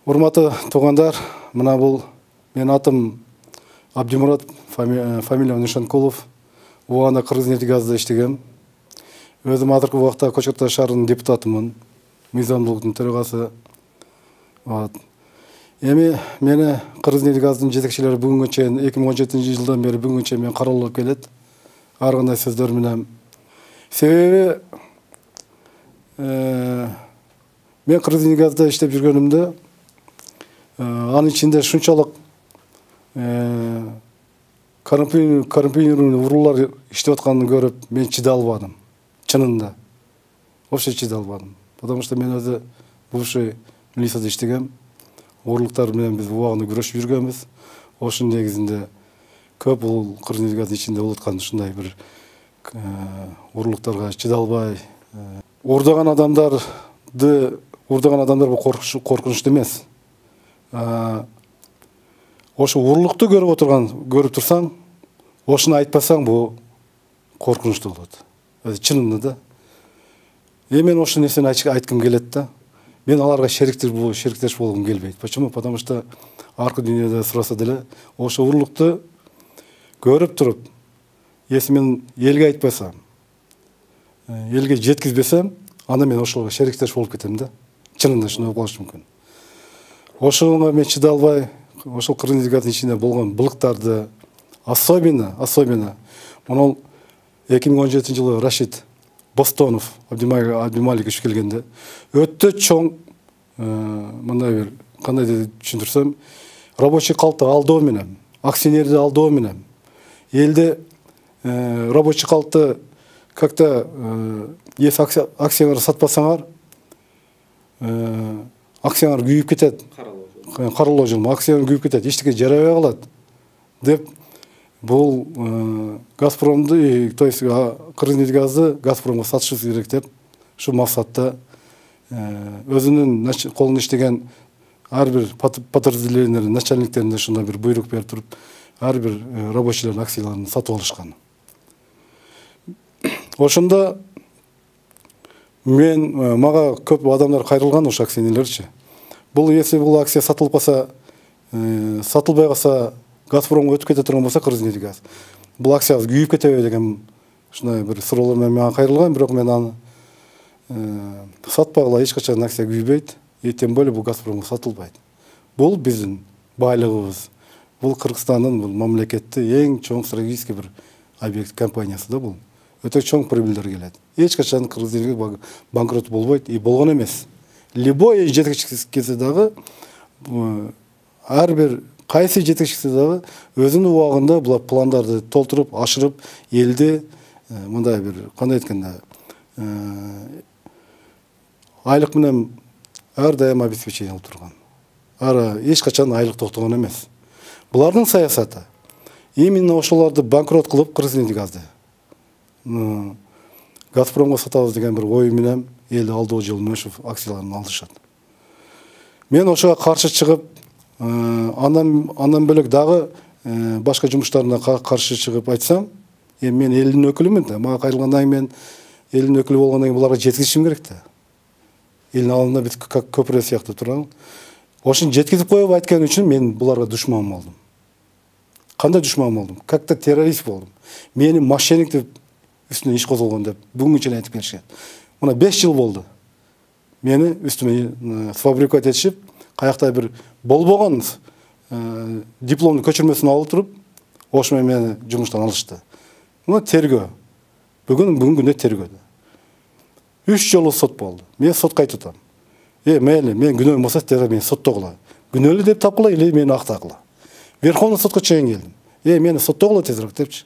Урматтуу туугандар, мына бул менин атым Абдимурат, фамилиям Нишанкулов. Убагында Кыргыз-Нефтегазда иштегем. Өзүм азыркы убакта Көчкөртау шаарынын депутатымын, мыйзамдуулуктун төрагасы. Эми мени Кыргыз-Нефтегаздын жетекчилери бүгүнгө чейин 2017-жылдан бери бүгүнгө чейин мен каралып келет. Ар кандай сөздөр менен. Себеби мен Кыргыз-Нефтегазда иштеп жүргөнүмдө анын ичинде шунчалык коррумпированный уруулар иштеп атканын көрүп мен чыдай албадым. Чынында. Вообще чыдай албадым. Потому что мен өзү бывший милицияда иштегем. Уруулуктар менен биз убагында күрөшүп жүргөнбүз. Ошонун негизинде көп бул Кыргыз-Нефтегаздын ичинде болуп аткан ушундай бир уруулуктарга чыдай албай, уурдаган адамдар бул коркунучтуу эмес. Ошо уруулукту көрүп турсаң, ошону айтпасаң, бул коркунучтуу болот. Чынында да. Мен ошол нерсени айткым келет да. Мен аларга шериктеш болгум келбейт. Почему? Потому что аркы дүйнөдө сураса деле, ошо уруулукту көрүп туруп, если мен элге айтпасам, элге жеткизбесем, анда мен ошого шериктеш болуп кетем да. Чынында ушундай болушу мүмкүн. Ошого мен чыдай албай, ошол Кыргыз-Нефтегаздын ичинде болгон былыктарды, особенно мына 2017-жылы Рашид Бостонов Абдималикович келгенде өтө чоң мындай бир кандай деп түшүндүрсөм, рабочий калкты алдоо менен, акционерди алдоо менен, элде рабочий калкты как-то если акцияларды сатпасаңар, акциялар күйүп кетет. Каралоо жылма, акциялар күйүп кетет, эчтеке жарабай калат деп бул Газпромду, то есть Кыргыз-Нефтегазды Газпромго сатышыбыз керек деп ушу максатта өзүнүн колунда иштеген ар бир подразделениялардын начальниктерине ушундай бир буйрук берип туруп, ар бир рабочийлердин акцияларын сатып алышкан. Ошондо мага көп адамдар кайрылган, ошо акционерлерчи. Бул если бул акция сатылып калса, сатылбай калса, Газпромго өтүп кете турган болсо Кыргыз-Нефтегаз, бул акциябыз күйүп кетеби деген ушундай бир суроолор менен мага кайрылган, бирок мен аны сатпагыла, эч качан акция күйбөйт, тем более бул Газпромго сатылбайт. Бул биздин байлыгыбыз, бул Кыргызстандын, бул мамлекеттин эң чоң стратегический бир объект компаниясы да бул. Өтө чоң прибыльдер келет. Эч качан Кыргыз-Нефтегаз банкрот болбойт, болгон эмес. Любой жетекчиси келсе дагы, ар бир кайсы жетекчиси дагы өзүнүн убагында бул пландарды толтуруп, ашырып, элди мындай бир кандай айтканда айлык менен ар дайым обеспечение кылып турган. Эч качан айлык токтогон эмес. Булардын саясаты именно ошолорду банкрот кылып Кыргыз-Нефтегазды Газпромго сатабыз деген бир ой менен элди алдоо жолунан ушу акцияларын алышат. Мен ошого каршы чыгып, андан бөлөк дагы башка жумуштарына каршы чыгып айтсам, мен элдин өкүлүмүн да. Мага кайрылгандан кийин мен элдин өкүлү болгондон кийин буларга жеткизишим керек да. Элдин алдында биз көпүрө сыяктуу туралы. Ошону жеткизип коюп айткан үчүн мен буларга душман болдум. Кандай душман болдум? Как-то террорист болдум. Мени мошенник деп үстүнө иш козголгон деп бүгүнгө чейин айтып келишкен. Мына 5 жыл болду. Мени үстүмө сфабрикат этишип, каякта бир болбогон дипломдун көчүрмөсүн алып туруп, ошо мени жумуштан алышты. Мына тергөө. Бүгүн күндө тергөөдө. 3 жолу сот болду. Мен сотко айтып атам. Мейли, мен күнөөм болсо тез мени соттогула. Күнөөлүү деп тапкыла или мени актагыла. Верховный сотко чейин келдим. Мени соттогула тезирээк депчи.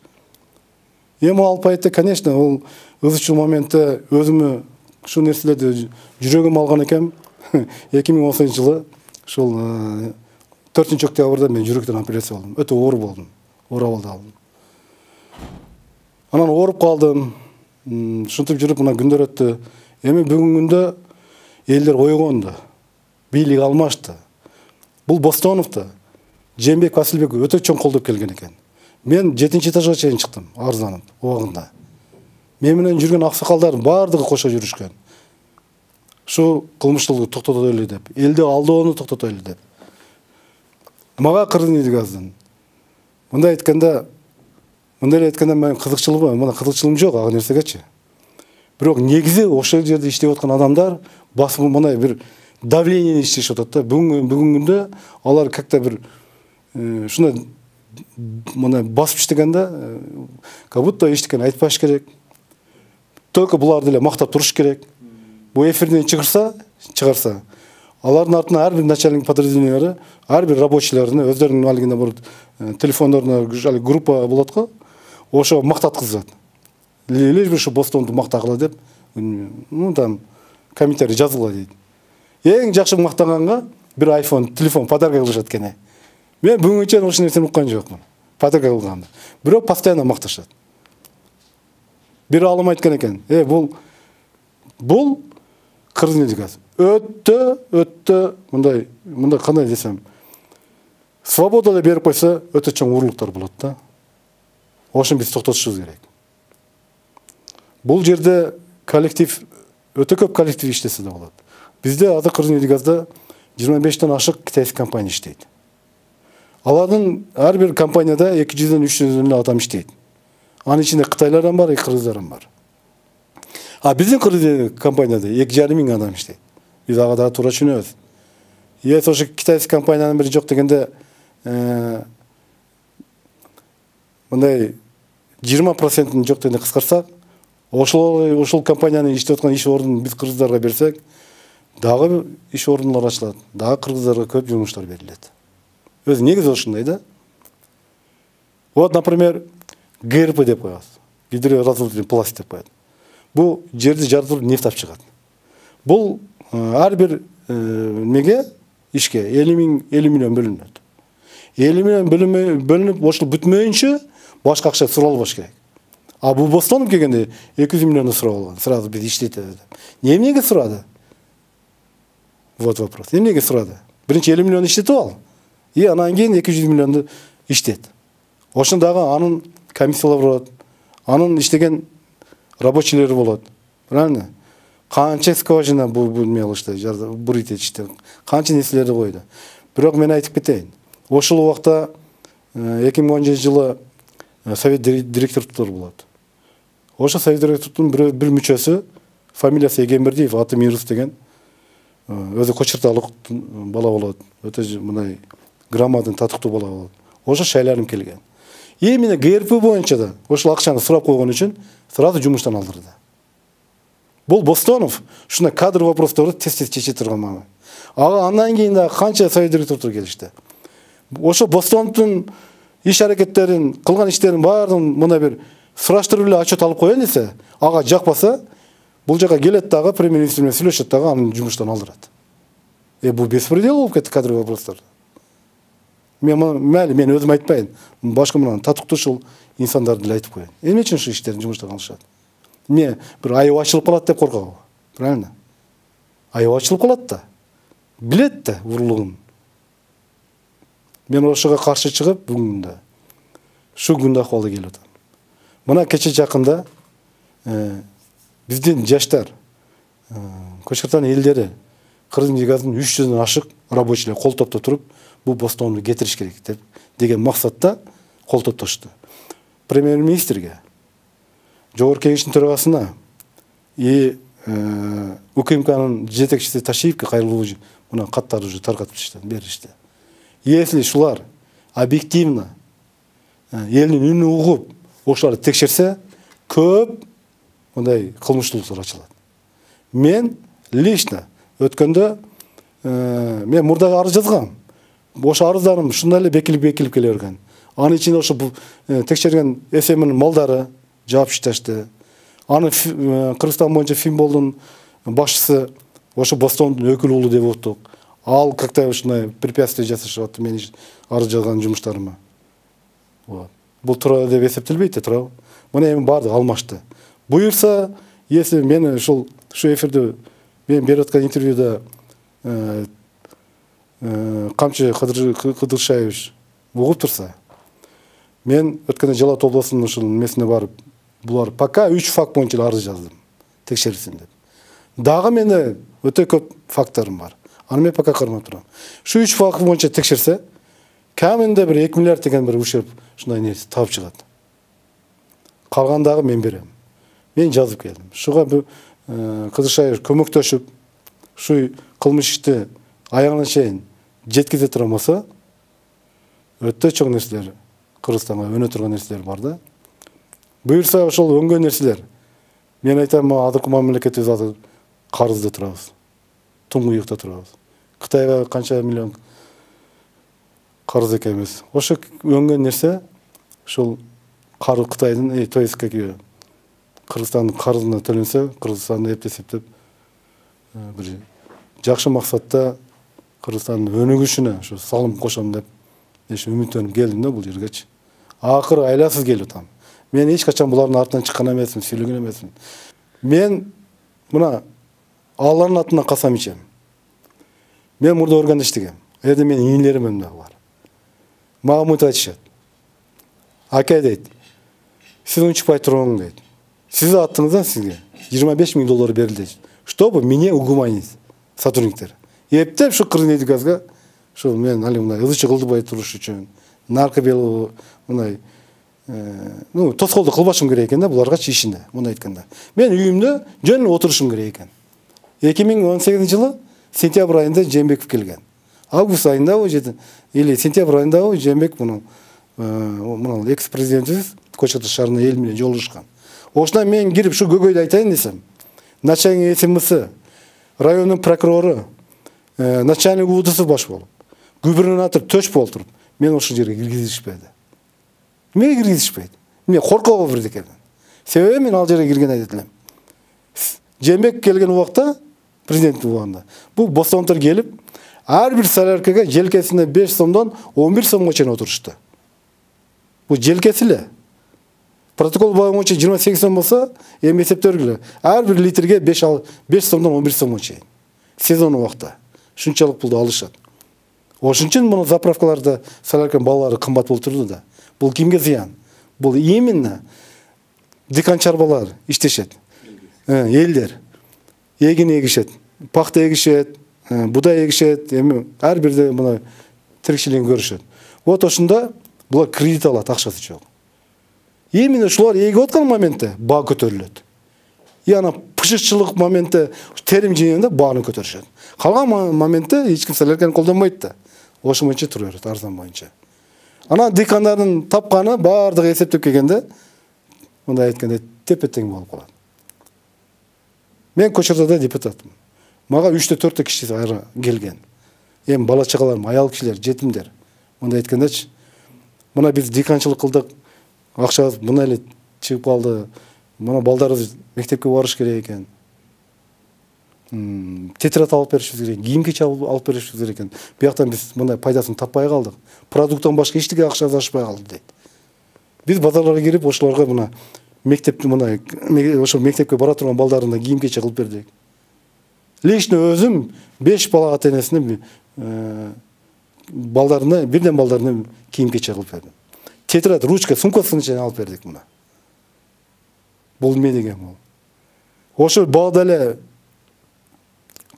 Алып айтты, конечно, ол ызычуу моментте өзүмө ушул нерселерди жүрөгүм алган экен. 2018-жылы ушул 4-октябрда мен жүрөктөн операция болдум. Өтө оор болдум. Оор абалда алдым. Анан ооруп калдым. Ушинтип жүрүп мына күндөр өттү. Эми бүгүнкү күндө элдер ойгонду. Бийлик алмашты. Бул Бостоновду Жээнбеков Асылбеков өтө чоң колдоп келген экен. Мен 7-этажга чейин чыктым, арызданып, убагында. Мен менен жүргөн аксакалдардын баардыгы кошо жүрүшкөн. ушу кылмыштуулукту токтотойлу деп, элди алдоону токтотойлу деп. Мага Кыргыз Нефть Газдан мындай айтканда мен кызыкчылыгым, мына кызыкчылыгым жок ага нерсегечи. Бирок негизи ошол жерде иштеп аткан адамдар басым мындай бир давление иштешип атат да. Бүгүнкү күндө алар как-то бир ушундай мына басып иштегенде как будто эчтекени айтпаш керек. Только буларды эле мактап туруш керек. Бу эфирден чыгарса, алардын артынан ар бир начальник подразделениялары, ар бир рабочийлерин өздөрүнүн алгында бар телефондоруна группа болот го. Ошо мактаткызат. Лишь бы ушу Бостонду мактагыла деп, там комментарий жазгыла дейт. Эң жакшы мактаганга бир iPhone телефон подарка кылышат экен. Мен бүгүнгө чейин ошол нерсени уккан жокмун. Подарка кылганды. Бирок постоянно макташат. Бир алым айткан экен. Бул Кыргыз Нефть Газ өтө мындай кандай десем, свободада берип койсо өтө чоң урлуктар болот да. Ошону биз токтотушубуз керек. Бул жерде коллектив өтө көп коллектив иштесе да болот. Бизде азыр Кыргыз Нефть Газда 25тен ашык китайский компания иштейт. Алардын ар бир компанияда 200ден 300ден адам иштейт. Анын ичинде кытайлар бар, кыргыздар бар. А биздин Кыргыз компанияда 2,5 миң адам иштейт. Биз ага да туура түшүнөбүз. Если ошо китайский компаниянын бири жок дегенде мындай 20% жок дегенде кыскартсак, ошол компаниянын иштеп аткан иш ордун биз кыргыздарга берсек, дагы иш ордундар ачылат, дагы кыргыздарга көп жумуштар берилет. Өзү негизи ошондой да. Вот, например, ГРП деп коебуз. Гидроразрушительный пласт деп коет. Бул жерди жардырып нефть алып чыгат. Бул ар бир немеге ишке 50 миллион бөлүнөт. 50 миллион бөлүнүп, ошол бүтмөйүнчө башка акча суралбаш керек. А бул Бостонуп келгенде 200 миллионду сурап алган. Сразу биз иштейт деп. Эмнеге сурады? Вот вопрос. Эмнеге сурады? Биринчи 50 миллион иштетип ал. И анан кийин 200 миллионду иштет. Ошондагы анын комиссиялар болот. Анын иштеген рабочийлери болот. Правильно? Канча скважина бул эме кылышты, бурит этишти. Канча нерселерди койду. Бирок мен айтып кетейин. Ошол убакта 2010-жылы совет директорлор болот. Ошо совет директордун бир мүчөсү, фамилиясы Эгембердиев, аты Мирус деген, өзү Кочурталык бала болот. Өтө мындай грамотный, татыктуу бала болот. Ошо шайланып келген. Именно ГРП боюнча да ошол акчаны сурап койгон үчүн сразу жумуштан алдырды. Бул Бостонов ушундай кадр вопросторду тез чече турган мага. Ага андан кийин да канча совет директорлор келишти. Ошо Бостоновдун иш аракеттерин, кылган иштерин баарын мындай бир сураштырып эле отчет алып коеюн десе, ага жакпаса, бул жака келет дагы премьер-министр менен сүйлөшөт дагы аны жумуштан алдырат. Бул беспредел болуп кетти кадр вопростор. Мен өзүм айтпайын. Башка мына татыктуу ушул инсандарды эле айтып коеюн. Эмне үчүн ушу иштерин жумуштан алышат? Мен бир айып ачылып калат деп коркобу? Правильно? Айып ачылып калат да. Билет да урлугун. Мен ошого каршы чыгып бүгүндө ушу күндө акыбалда келип атам. Мына кече жакында биздин жаштар, Көчкөртан элдери Кыргыз Нефть Газдын 300дөн ашык рабочийлер кол топтоп туруп, бул Бостонду кетириш керек деп деген максатта кол топтошту. Премьер-министрге, жогорку кеңештин төрагасына УКМКнын жетекчиси Ташиевке кайрылуу мына каттарды уже таркатып беришти. Если шулар объективно элдин үнүн угуп, ошоларды текшерсе, көп мындай кылмыштуулуктар ачылат. Мен лично өткөндө мен мурда арыз жазгам. Ошо арыздарым ушундай эле бекилип келе берген. Анын ичинде ошо текшерген СМнин малдары жаап иштешти. Аны Кыргызстан боюнча Финболдун башчысы ошо Бостондун өкүл уулу деп оттук. Ал как-то ушундай препятствие жасашып, мен арыз жазган жумуштарыма. Вот. Бул туура деп эсептелбейт да, туура. Мына эми баардыгы алмашты. Буюрса, если мен ушу эфирде мен берип аткан интервьюда Камчы Кыдыршаевич угуп турса, мен өткөндө Жалал Абад областынын ушул эмесине барып, булар пока 3 факт боюнча арыз жаздым, текшерилсин деп. Дагы менде өтө көп факторум бар. Аны мен пока кармап турам. Şu 3 факт боюнча текшерсе, кеминде бир 2 миллиард деген бир ушерп ушундай нерсе таап чыгат. Калгандагы мен берем. Мен жазып келдим. Шуга кызыкча көмөктөшүп, şu кылмыш ишти аягына чейин жеткизе турган болсо, өтө чоң нерселер Кыргызстанга өнө турган нерселер бар да. Буюрса ошол өңгөн нерселер. Мен айтам, азыркы мамлекетибиз азыр карызда турабыз. Туңгуюкта турабыз. Кытайга канча миллион карыз экенбиз. Ошо өңгөн нерсе ушул Кытайдын, то есть Кыргызстандын карызына төлөнсө, Кыргызстанды эптеп бир жакшы максатта Кыргызстандын өнүгүшүнө ушу салым кошом деп үмүттөнүп келдим да бул жергечи. Акыры айласыз келип атам. Мен эч качан булардын артынан чыккан эмесмин, сүйлөгөн эмесмин. Мен мына Алланын атына касам ичем. Мен мурда органда иштегем. Эде менин ийилерим дагы бар. Мага мынтип айтышат. Ака дейт, сиз унчукпай туруң дейт. Сиздин аттыңыздан сизге $25,000 берилди. Чтобы мне угуманить сотрудниктер. Эптеп шу Кыргыз-Газга шу мен али мындай ызычы кылдыбай туруш үчүн наркы бел мындай тоскоолдук кылбашым керек экен да буларгачы ишинде. Муну айтканда. Мен үйүмдө жөн эле отурушум керек экен. 2018-жылы сентябрь айында Жээнбеков келген. Август айында или сентябрь айында Жээнбеков мына экс-президентибиз Көчөтө шаарына эл менен жолугушкан. Ошондон мен кирип шу көкөйдү айтайын десем, начальник СМС, райондун прокурору, начальник УВДС баш болуп, губернатор төш болуп туруп, мен ошол жерге киргизишпеди. Эмнеге киргизишпейт? Мен коркобо бирдикеден. Себеби мен ал жерге кирген айдет элем. Жээнбеков келген убакта, президент убагында, бул бостонтор келип, ар бир соляркага желкесине 5 сомдон 11 сомго чейин отурушту. Бул желкеси эле. Протокол боюнча 28 сом болсо, эми эсептөргүлө. Ар бир литрге 5 сомдон 11 сомго чейин. Сезон убакта. Шунчалык пулду алышат. Ошон үчүн муну заправкаларда солярканын баллары кымбат болуп турду да. Бул кимге зыян? Бул именно дикан чарбалар иштешет. Элдер эгин эгишет, пахта эгишет, будай эгишет, эми ар бирде мына тирикчилигин көрүшөт. Вот ошондо булар кредит алат, акчасы жок. Именно ушулар эгип аткан моментте баа көтөрүлөт. Ана пышыкчылык моментте терим жыйганда бааны көтөрүшөт. Калган моментте эч ким солярканы колдонбойт да. Ошо боюнча тура берет, арзан боюнча. Ана дикандардын тапканы баардыгы эсептеп келгенде, мындай айтканда тепе-тең болуп калат. Мен Көчөтөдө депутатмын. Мага 3-4 киши келген. Эми бала чагаларым, аял кишилер, жетимдер. Мындай айткандачы, мына биз диканчылык кылдык, акчабыз мына эле чыгып калды. Мына балдарыбыз мектепке барыш керек экен. Тетрадь алып беришибиз керек, кийим-кечек алып беришибиз керек экен. Бияктан биз мындай пайдасын таппай калдык. Продукттан башка эчтеке акчабыз ашпай калды дейт. Биз базарларга кирип ошолорго мына мектепти мына ошо мектепке бара турган балдарына кийим-кечек кылып бердик. Лично өзүм 5 бала ата-энесине балдарына, бирден балдарына кийим-кечек кылып бердим. Тетрадь, ручка, сумкасын чейин алып бердик мына. Бул эме деген бул. Ошо баада эле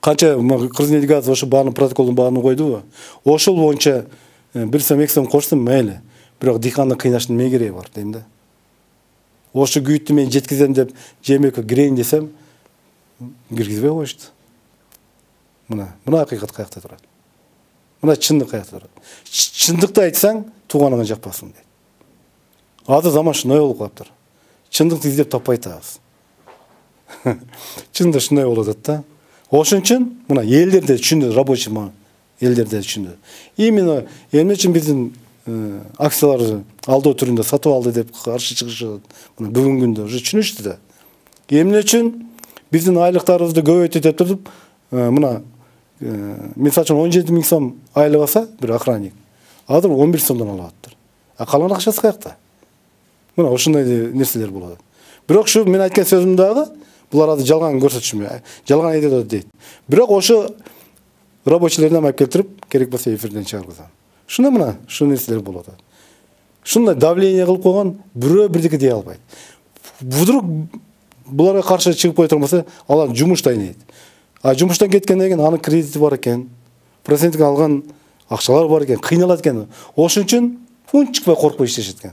канча Кыргыз-Газ ошо баанын протоколдун бааны койдубу? Ошол боюнча 1 сом 2 сом кошсун мейли. Бирок диканды кыйнаштын эмне кереги бар дейм да. Ошо күйүттү мен жеткизем деп Жээнбековго кирейин десем, киргизбей коюшту. Мына акыйкат каякта турат. Мына чындык каякта турат. Чындыкты айтсаң, тууганыңа жакпасын дейт. Азыр заман шундай болуп калыптыр. Чындыкты издеп таппай атабыз. Чындык шундай болуп атат да. Ошон үчүн мына элдерде түшүндү, рабочий элдерде түшүндү. Именно эмне үчүн биздин акцияларды алдоо түрүндө сатып алды деп каршы чыгышат. Мына бүгүнкү күндө уже түшүнүштү да. Эмне үчүн биздин айлыктарыбызды көбөйтүп деп туруп, мына мисалы үчүн 17 000 сом айлык алса бир охранник, азыр 11 сомдон алып атыптыр. А калган акчасы каякта? Мына ошондой нерселер болот. Бирок ушу мен айткан сөзүм дагы булар азыр жалган көрсөтүшүм, жалган айтат дейт. Бирок ошо рабочийлерден алып келтирип, керек болсо эфирден чыгаргызам. Шуна мына, шу нерселер болот. Шундай давление кылып койгон, бирөө бирдеке дей албайт. Вдруг буларга каршы чыгып кое турмаса, алар жумушта ийнейт. А жумуштан кеткенден кийин анын кредити бар экен, процентин алган акчалар бар экен, кыйналат экен. Ошон үчүн унчукпай коркпой иштешет экен.